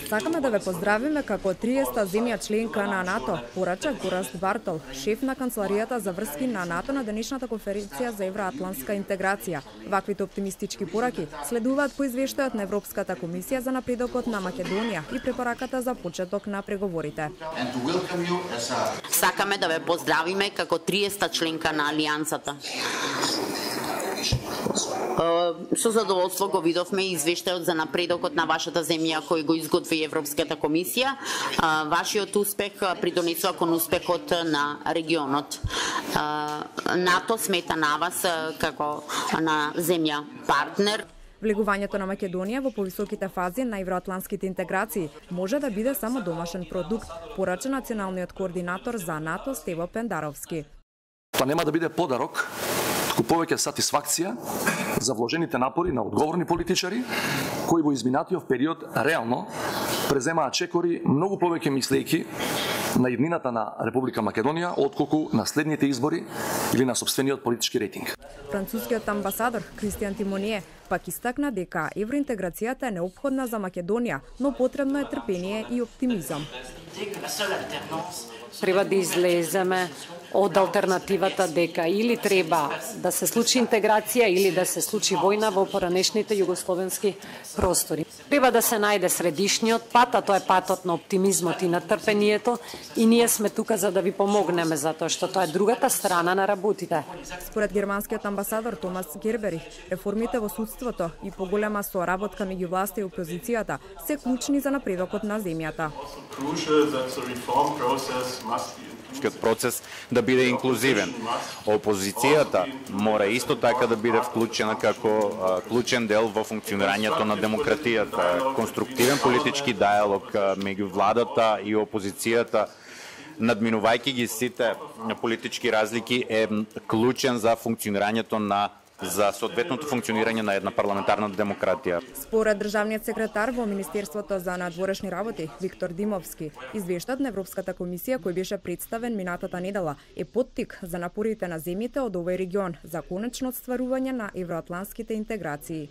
Сакаме да ве поздравиме како 30-та земја членка на НАТО, порача Гораст Бартол, шеф на канцеларијата за врски на НАТО на денешната конференција за евроатлантска интеграција. Ваквите оптимистички пораки следуваат по извештајот на Европската комисија за напредокот на Македонија и препораката за почеток на преговорите. Сакаме да ве поздравиме како 30-та членка на Алијансата. Со задоволство го видовме извештајот за напредокот на вашата земја кој го изготви Европската комисија. Вашиот успех придонесува кон успехот на регионот. НАТО смета на вас како на земја партнер. Влегувањето на Македонија во повисоките фази на евроатлантските интеграции може да биде само домашен продукт, порача националниот координатор за НАТО Стево Пендаровски. Тоа нема да биде подарок, туку повеќе сатисфакција за вложените напори на одговорни политичари кои во изминатиот период реално преземаат чекори многу повеќе мислејки на иднината на Република Македонија отколку на следните избори или на сопствениот политички рейтинг. Францускиот амбасадор Кристијан Тимоние пак истакна дека евроинтеграцијата е неопходна за Македонија, но потребно е трпение и оптимизам. Треба да излеземе од алтернативата дека или треба да се случи интеграција или да се случи војна во поранешните југословенски простори. Треба да се најде средишниот пат, а тоа е патот на оптимизмот и на трпението, и ние сме тука за да ви помогнеме, затоа што тоа е другата страна на работите. Според германскиот амбасадор Томас Герберих, реформите во судството и поголема соработка меѓу власта и опозицијата се клучни за напредокот на земјата. Процес да биде инклузивен. Опозицијата мора исто така да биде вклучена како клучен дел во функционирањето на демократијата. Конструктивен политички диалог меѓу владата и опозицијата, надминувајќи ги сите политички разлики, е клучен за функционирањето за соодветното функционирање на една парламентарна демократија. Според државниот секретар во Министерството за надворешни работи Виктор Димовски, извештајот на Европската комисија кој беше представен минатата недела е поттик за напорите на земјите од овој регион за конечно отстварување на евроатлантските интеграции.